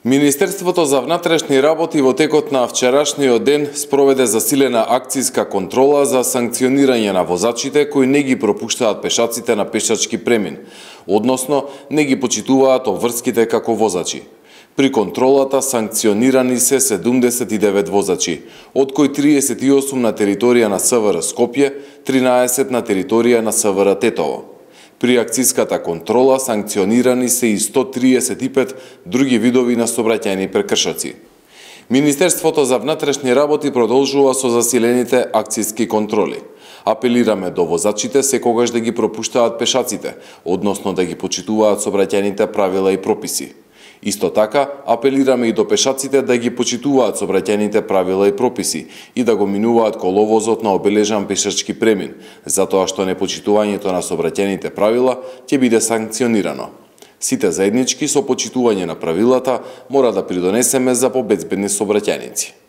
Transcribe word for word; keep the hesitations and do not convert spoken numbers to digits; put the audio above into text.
Министерството за внатрешни работи во текот на вчерашниот ден спроведе засилена акцијска контрола за санкционирање на возачите кои не ги пропуштаат пешаците на пешачки премин, односно не ги почитуваат обврските како возачи. При контролата санкционирани се седумдесет и девет возачи, од кои триесет и осум на територија на СВР Скопје, тринаесет на територија на СВР Тетово. При акцијската контрола санкционирани се и сто триесет и пет други видови на сообраќајни прекршоци. Министерството за внатрешни работи продолжува со засилените акцијски контроли. Апелираме до возачите секогаш да ги пропуштаат пешаците, односно да ги почитуваат сообраќајните правила и прописи. Исто така, апелираме и до пешаците да ги почитуваат сообраќајните правила и прописи и да го минуваат коловозот на обележан пешачки премин, затоа што непочитувањето на сообраќајните правила ќе биде санкционирано. Сите заеднички со почитување на правилата мора да придонесеме за побезбедни сообраќајници.